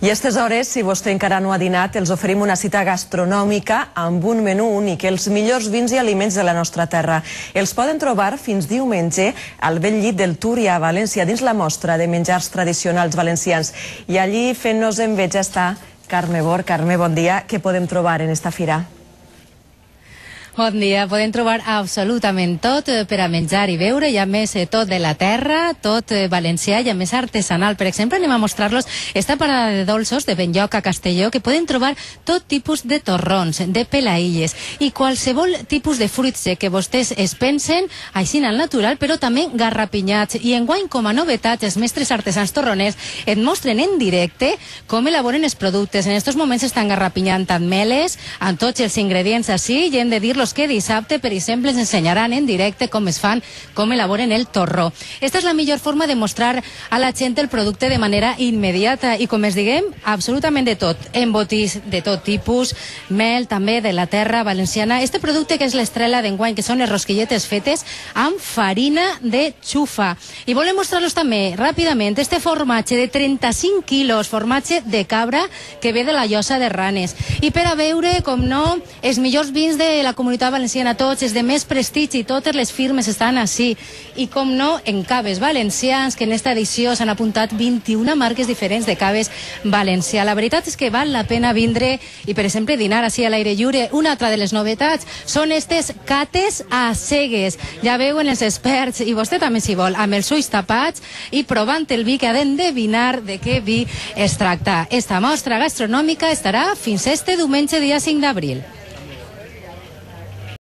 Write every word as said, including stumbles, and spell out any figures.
I a aquestes hores, si vostè encara no ha dinat, els oferim una cita gastronòmica amb un menú únic, els millors vins i aliments de la nostra terra. Els poden trobar fins diumenge al bell llit del Túria, a València, dins la mostra de menjars tradicionals valencians. I allí, fent-nos enveja, està Carme Bor. Carme, bon dia. Què podem trobar en esta fira? Bon dia, podem trobar absolutament tot per a menjar i beure, i a més tot de la terra, tot valencià i a més artesanal. Per exemple, anem a mostrar-los esta parada de dolços de Benlloc a Castelló, que poden trobar tot tipus de torrons, de pelaïlles i qualsevol tipus de fruit sec que vostès es pensen, així al natural, però també garrapinyats. I enguany, com a novetat, els mestres artesans torroners et mostren en directe com elaboren els productes. En aquests moments estan garrapinyant ameles amb tots els ingredients així, i hem de dir que dissabte, per exemple, ens ensenyaran en directe com es fan, com elaboren el torró. Esta és la millor forma de mostrar a la gent el producte de manera immediata i, com es diguem, absolutament de tot. Embotits de tot tipus, mel també de la terra valenciana. Este producte que és l'estrella d'enguany, que són les rosquilletes fetes amb farina de xufa. I volem mostrar-los també ràpidament este formatge de trenta-cinc quilos, formatge de cabra que ve de la Llosa de Ranes. I per a veure, com no, els millors vins de la comunitat valenciana, tots els de més prestigi, i totes les firmes estan així. I com no, en caves valencians, que en esta edició s'han apuntat vint-i-una marques diferents de caves valencià. La veritat és que val la pena vindre i, per exemple, dinar així a l'aire lliure. Una altra de les novetats són estes cates a cegues. Ja veuen els experts, i vostè també s'hi vol, amb els ulls tapats i provant el vi, que ha d'endevinar de què vi es tracta. Esta mostra gastronòmica estarà fins este diumenge, dia cinc d'abril.